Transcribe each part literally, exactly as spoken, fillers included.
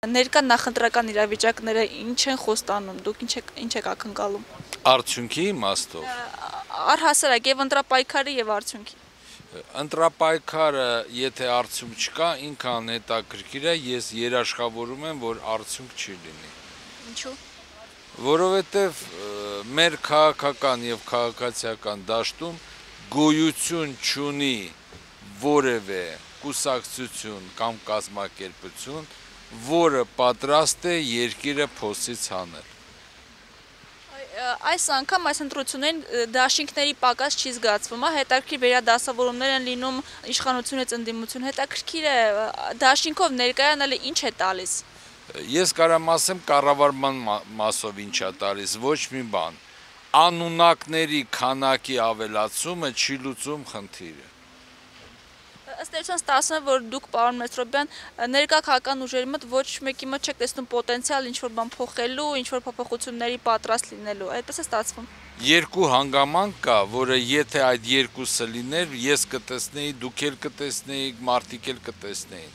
Ներկա նախընտրական իրավիճակները ինչ են խոստանում, դուք ինչ եք, ինչ եք ակնկալում։ Արդյունքի իմաստով։ Առհասարակ եւ ընտրապայքարի եւ արդյունքի։ Ընտրապայքարը, եթե արդյունք չկա, ինքան հետաքրքիր է, ես երաշխավորում եմ, որ արդյունք չի լինի։ Ինչու՞։ Որովհետեւ մեր քաղաքական եւ քաղաքացիական դաշտում գոյություն չունի որևէ կուսակցություն կամ կազմակերպություն, որը պատրաստ է երկիրը փոսից հանել։ Այս անգամ այս ընտրություններին դաշինքների պակաս չի զգացվում, հետաքրքիր վերադասավորումներ են լինում իշխանությունից ընդդիմություն, հետաքրքիր է դաշինքով ներկայանալը ինչ է տալիս։ Ես կարամ ասեմ կառավարման մասով ինչ է տալիս, ոչ մի բան։ Անունակների քանակի ավելացումը չի լուծում խնդիրը։ Ըստ էության ստացվում է, որ դուք, պարոն Մեսրոպյան, ներկա քաղաքական ուժերի մոտ ոչ մեկի մոտ չեք տեսնում պոտենցիալ ինչ-որ բան փոխելու, ինչ-որ փոփոխությունների պատրաստ լինելու, այդպես է ստացվում։ Երկու հանգամանք կա, որը եթե այդ երկուսը լիներ, ես կտեսնեի, դուք էլ կտեսնեիք, մարդիկ էլ կտեսնեին։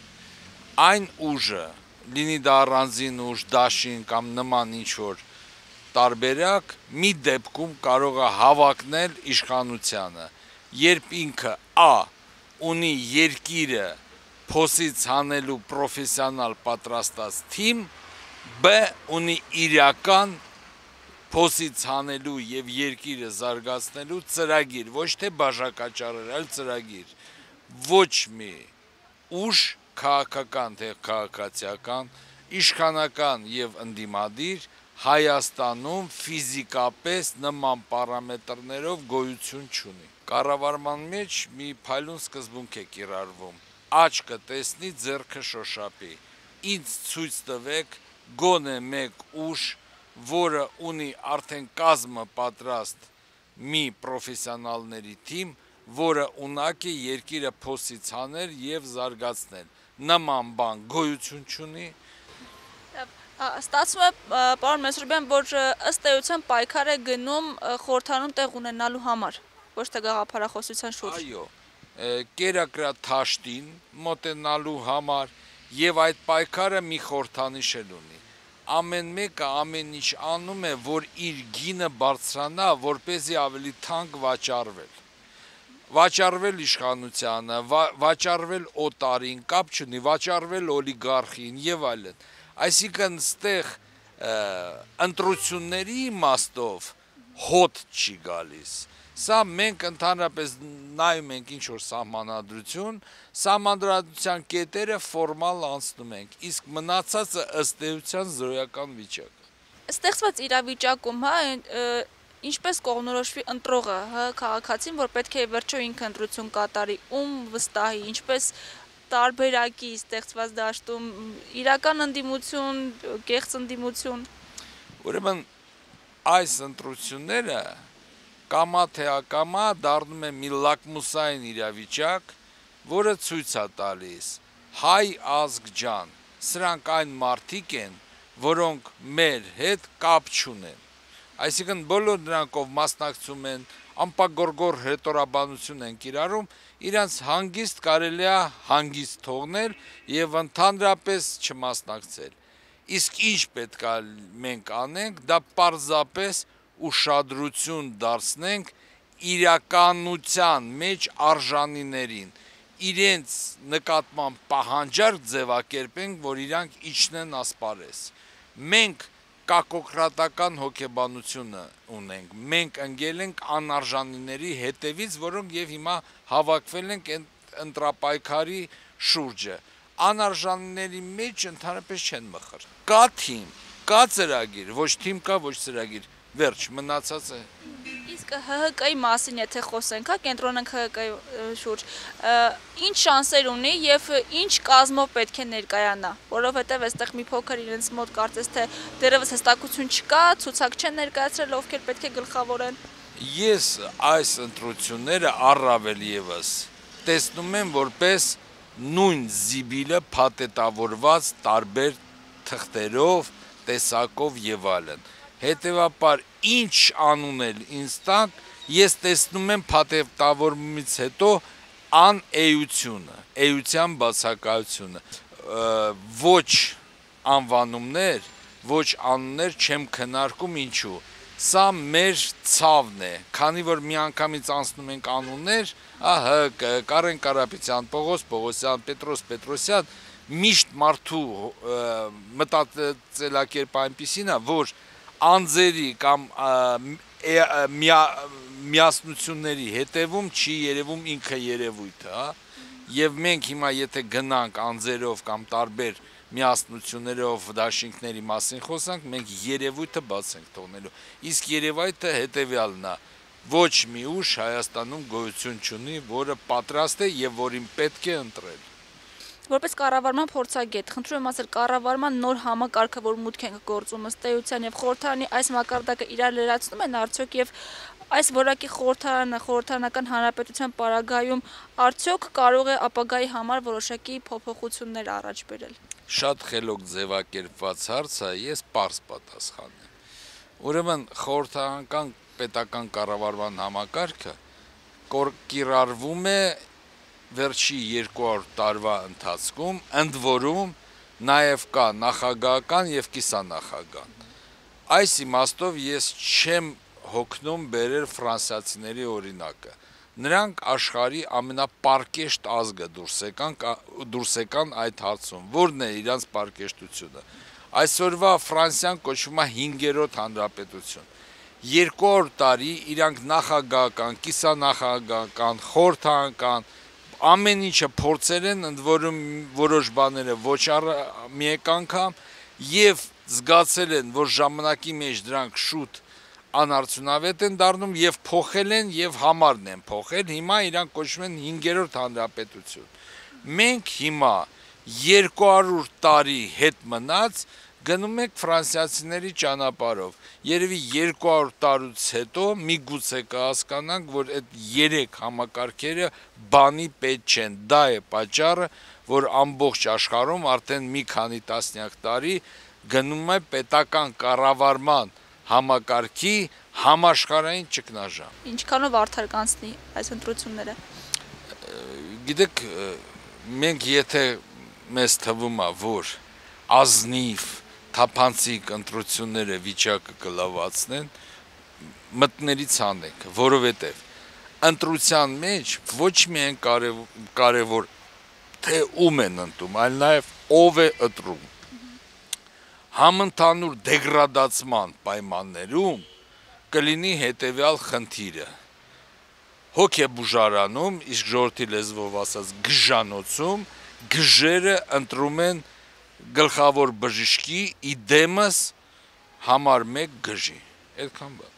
Այն ուժը, լինի դա առանձին ուժ, դաշին կամ նման ինչ-որ տարբերակ, մի դեպքում կարող է հավակնել իշխանությանը, երբ ինքը Ա ունի երկիրը փոսից հանելու պրոֆեսիոնալ պատրաստած թիմ, Բ ունի իրական փոսից հանելու եւ երկիրը զարգացնելու ծրագիր, ոչ թե բաժակաճառեր, այլ ծրագիր։ Ոչ մի ուժ քաղաքական թե քաղաքացիական, իշխանական եւ ընդդիմադիր Հայաստանում ֆիզիկապես նման պարամետրներով գոյություն չունի։ Կառավարման մեջ մի փայլուն սկզբունք է կիրառվում. աչքը տեսնի, ձեռքը շոշափի։ Ինձ ցույց տվեք գոնե մեկ ուժ, որը ունի արդեն կազմը պատրաստ մի պրոֆեսիոնալների թիմ, որը ունակ է երկիրը փոսից հանել եւ զարգացնել։ Նման բան գոյություն չունի։ Ստացվում է, պարոն Մեսրոպյան, որ ըստ էության պայքար է գնում խորհրդարանում տեղ ունենալու համար, ոչ թե գաղափարախոսության շուրջ։ Այո, կերակրաթաշտին մոտենալու համար եւ այդ պայքարը մի խորհրդանիշ էլ ունի։ Ամեն մեկը ամեն ինչ անում է, որ իր գինը բարձրանա, որպեսզի ավելի թանկ վաճառվել։ Վաճառվել իշխանությանը, վաճառվել օտարին, կապ չունի, վաճառվել օլիգարխին եւ այլն։ Այսինքն ստեղ ընտրությունների իմաստով հոտ չի գալիս։ Սա մենք ընդհանրապես նայում ենք ինչ-որ սահմանադրություն, սահմանադրության կետերը ֆորմալ անցնում ենք, իսկ մնացածը ըստ էության զրոյական վիճակ։ Ստեղծված իրավիճակում, հա, ինչպես կողմնորոշվի ընտրողը, հա, քաղաքացին, որ պետք է վերջո ինքը ընտրություն կատարի, ում վստահի, ինչպես տարբերակի ստեղծված դաշտում, իրական ընդդիմություն, կեղծ ընդդիմություն։ Ուրեմն այս ընտրությունները կամա թե ակամա դառնում է մի լակմուսային իրավիճակ, որը ցույց է տալիս հայ ազգ ջան, սրանք այն մարդիկ են, որոնք մեր հետ կապ չունեն։ Այսինքն բոլոր նրանք, ով մասնակցում են, անպագորգոր հռետորաբանություն են կիրառում, իրանց հանգիստ կարելի է հանգիստ թողնել եւ ընդհանրապես չմասնակցել։ Իսկ ինչ պետք է մենք անենք, դա պարզապես ուշադրություն դարձնենք իրականության մեջ արժանիներին, իրենց նկատմամբ պահանջարկ ձևակերպենք, որ իրանք իջնեն ասպարեզ։ Մենք կակոկրատական հոգեբանությունը ունենք, մենք ընկել ենք անարժանիների հետևից, որոնք եւ հիմա հավաքվել ենք ընտրապայքարի շուրջը։ Անարժանիների մեջ ընդհանրապես չեն մխր։ Կա թիմ, կա ծրագիր, ոչ թիմ կա, ոչ ծրագիր, վերջ, մնացածը։ Իսկ Հ Հ Կ-ի մասին եթե խոսենք, հա, կենտրոնենք Հ Հ Կ-ի շուրջ, ինչ շանսեր ունի եւ ինչ կազմով պետք է ներկայանա, որովհետեւ այստեղ մի փոքր իրենց մոտ կարծես թե դեռևս հստակություն չկա, ցուցակ չեն ներկայացրել, ովքեր պետք է գլխավորեն։ Ես այս ընտրությունները առավել եւս տեսնում եմ որպես նույն զիբիլը փաթեթավորված տարբեր թղթերով, տեսակով եւ այլն։ Հետևաբար ինչ անունել ինձ տան, ես տեսնում եմ փաթեթավորումից հետո անէությունը, էության բացակայությունը, ոչ անվանումներ, ոչ անուններ չեմ քննարկում, ինչու։ Սա մեր ցավն է, քանի որ միանգամից անցնում ենք անուններ, ահա Կարեն Կարապետյան, Պողոս Պողոսյան, Պետրոս Պետրոսյան, միշտ մարդու մտածելակերպը այնպիսին է, որ անձերի կամ միասնությունների հետևում չի երևում ինքը երևույթը, եւ մենք հիմա եթե գնանք անձերով կամ տարբեր միասնություններով դաշինքների մասին խոսանք, մենք երևույթը բաց ենք թողնելու, իսկ երևույթը հետեւյալն է, ոչ մի ուժ Հայաստանում գոյություն չունի, որը պատրաստ է եւ որին պետք է ընտրել։ Որպես կառավարման փորձագետ, խնդրում եմ ասել, կառավարման նոր համակարգը, որ մուտք են գործում ըստ էության եւ խորհրդարանի այս մակարդակը իրար լրացնում են արդյոք եւ այս որակի խորհրդարանը, խորհրդարանական հանրապետության պարագայում արդյոք կարող է ապագայի համար որոշակի փոփոխություններ առաջ բերել։ Շատ խելոք ձևակերպված հարց է, ես պարզ պատասխանեմ։ Ուրեմն խորհրդարանական պետական կառավարման համակարգը կիրառվում է վերջի երկու հարյուր տարվա ընթացքում, ընդ որում նաև կա նախագահական եւ կիսանախագահական։ Այս իմաստով ես չեմ հոգնում բերել ֆրանսիացիների օրինակը։ Նրանք աշխարհի ամենապարկեշտ ազգը դուրս եկան, դուրս եկան այդ հարցում։ Որն է իրանց պարկեշտությունը։ Այսօրվա Ֆրանսիան կոչվում է հինգերորդ հանրապետություն։ երկու հարյուր տարի իրանք նախագահական, կիսանախագահական, խորհրդարանական ամեն ինչը փորձել են, ընդ որում որոշ բաները ոչ մի անգամ եւ զգացել են, որ ժամանակի մեջ դրանք շուտ անարդյունավետ են դառնում եւ փոխել են եւ համարն են փոխել, հիմա իրանք կոչվում են հինգերորդ հանրապետություն։ Մենք հիմա երկու հարյուր տարի հետ մնաց գնում ենք ֆրանսիացիների ճանապարհով։ Երևի երկու հարյուր տարուց հետո միգուցե կհասկանանք, որ այդ երեք համակարգերը բանի պետք չեն։ Դա է պատճառը, որ ամբողջ աշխարհում արդեն մի քանի տասնյակ տարի գնում է պետական կառավարման համակարգի համաշխարհային ճգնաժամ։ Ինչքանով արդար կանցնի այս ընտրությունները։ Գիտեք, մենք եթե մեզ թվում է, որ ազնիվ թափանցիկ ընտրությունները վիճակը կլավացնեն, մտներից անենք, որովհետև ընտրության մեջ ոչ միայն կարևոր թե ում են ընտրում, այլ նաև ով է ընտրում։ Համընդհանուր դեգրադացման պայմաններում կլինի հետևյալ խնդիրը. հոգ է բուժարանում, իսկ ժողովրդի լեզվով ասած գժանոցում, գժերը ընտրում են գլխավոր բժշկի իդեմս համար մեկ գժի, այդքան բան։